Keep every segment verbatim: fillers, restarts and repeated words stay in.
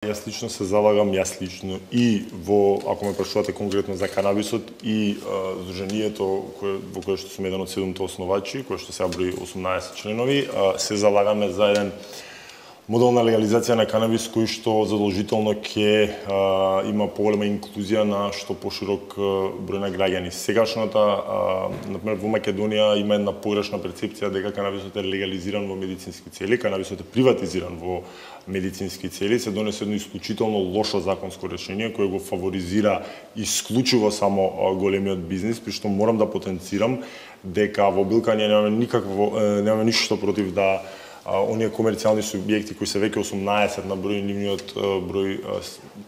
Јас лично се залагам, јас лично и во, ако ме прашувате конкретно за канабисот, и а, Здруженијето кое, во кое што сум еден од седумте основачи, кое што сега брои осумнаесет членови, а, се залагаме за еден модел на легализација на канабис кој што задолжително ќе а, има поголема инклузија на што поширок број на граѓани. Сегашната, а, например, во Македонија има една погрешна перцепција дека канабисот е легализиран во медицински цели, канабисот е приватизиран во медицински цели, се донесе едно исклучително лошо законско решение кое го фаворизира исклучиво само големиот бизнис, при што морам да потенцирам дека во Билка ние немаме никакво немаме ништо против да а, оние комерцијални субјекти кои се веќе осумнаесет на број, нивниот број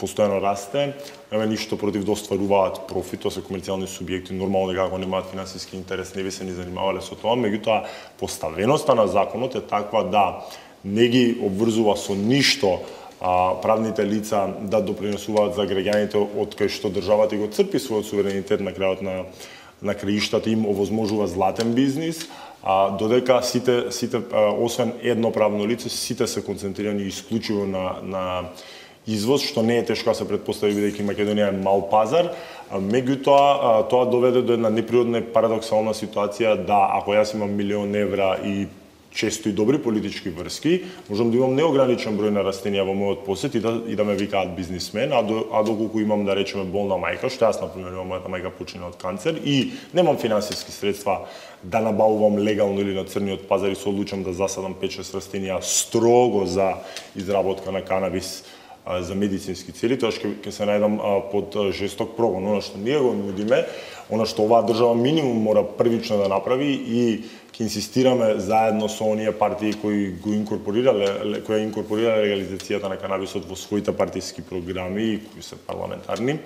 постојано расте, немаме ништо против да остваруваат профит, тоа се комерцијални субјекти, нормално дека ако немаат финансиски интерес не би се ни занимавале со тоа, меѓутоа поставеноста на законот е таква да не ги обврзува со ништо а, правните лица да допринесуваат за граѓаните од кај што државата го црпи својот суверенитет на крајот на на краиштата, им овозможува златен бизнис, а додека сите сите а, освен едно правно лице, сите се концентрирани исклучиво на на извоз, што не е тешко да се претпостави бидејќи Македонија е мал пазар, меѓутоа тоа доведе до една неприродна и парадоксална ситуација да ако јас имам милион евра и често и добри политички врски, можам да имам неограничен број на растенија во мојот посет и да, и да ме викаат бизнисмен, а, до, а доколку имам, да речеме, болна мајка, што јас, например, имам мојата мајка почина од канцер и немам финансиски средства да набавувам легално или на црниот пазар и се одлучам да засадам пет-шест растенија строго за изработка на канабис а, за медицински цели, тоа ќе ќе се најдам а, под а, жесток прогон. Она што ние го нудиме, она што оваа држава минимум мора првично да направи и ќе инсистираме заедно со оние партии кои го инкорпорирале, кои инкорпорирале легализацијата на канабисот во своите партиски програми, кои се парламентарни,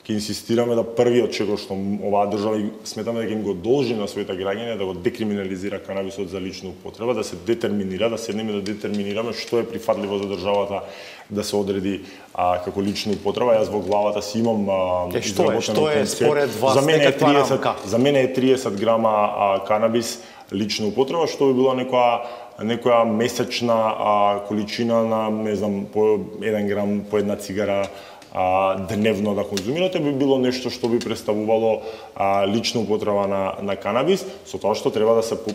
ќе инсистираме да првиот чекор што оваа држава сметаме дека им го должи на своите граѓани да го декриминализира канабисот за лична употреба, да се детерминира, да седнеме да детерминираме што е прифатливо за државата да се одреди а, како лична употреба. Јас во главата си имам а, е, што е, што е според вас за мене е триесет, рамка? За мене е триесет грама а, канабис лична употреба, што би била некоја некоја месечна а, количина на, не знам, по еден грам, по една цигара а, дневно да конзумирате, би било нешто што би представувало а, лична употреба на, на канабис, со тоа што треба да се по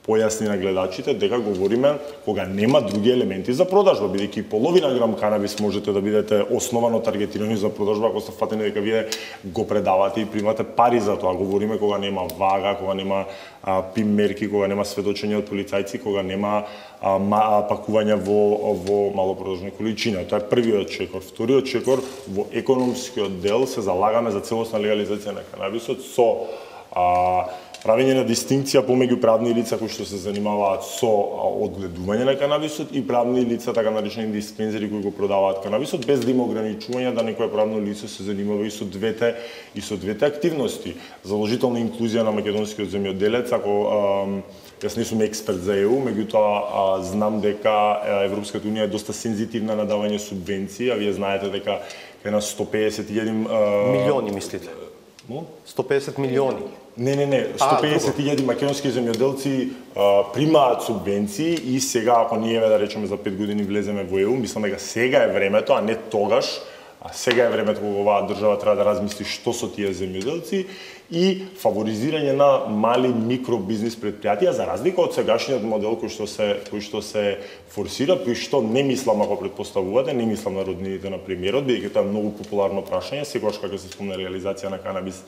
појасни на гледачите дека говориме кога нема други елементи за продажба, бидејќи половина грам канабис можете да бидете основано таргетирани за продажба ако сте фатени дека вие го предавате и примате пари за тоа. Говориме кога нема вага, кога нема а, пим мерки, кога нема сведочење од полицајци, кога нема а, ма, пакување во во малопродажна количина. Тоа е првиот чекор. Вториот чекор, во економскиот дел се залагаме за целосна легализација на канабисот со а, правење на дистинкција помеѓу правни лица кои што се занимаваат со одгледување на канабисот и правни лица, така наречени диспензери кои го продаваат канабисот, без да има ограничување да некое правно лице се занимава и со двете и со двете активности. Задолжителна инклузија на македонскиот земјоделец, ако а, јас не сум експерт за Е У, меѓутоа знам дека Европската унија е доста сензитивна на давање субвенции, а вие знаете дека е на сто пеесет илјади милиони мислите? сто пеесет милиони. Не, не, не, сто пеесет илјади македонски земјоделци а, примаат субвенции и сега ако ние да речеме за пет години влеземе во Е У, мислам дека сега е времето, а не тогаш, а сега е времето кога оваа држава треба да размисли што со тие земјоделци и фаворизирање на мали микробизнис претпријатија за разлика од сегашниот модел кој што се кој што се форсира, при што не мислам ако претпоставувате, не мислам на роднините на премиерот, бидејќи тоа е многу популарно прашање, секогаш кога се спомне реализација на канабис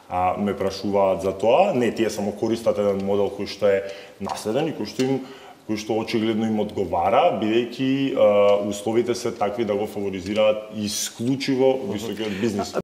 а, ме прашуваат за тоа. Не, тие само користат еден модел кој што е наследен и кој што им кој што очигледно им одговара, бидејќи условите се такви да го фаворизираат исклучиво високиот бизнис.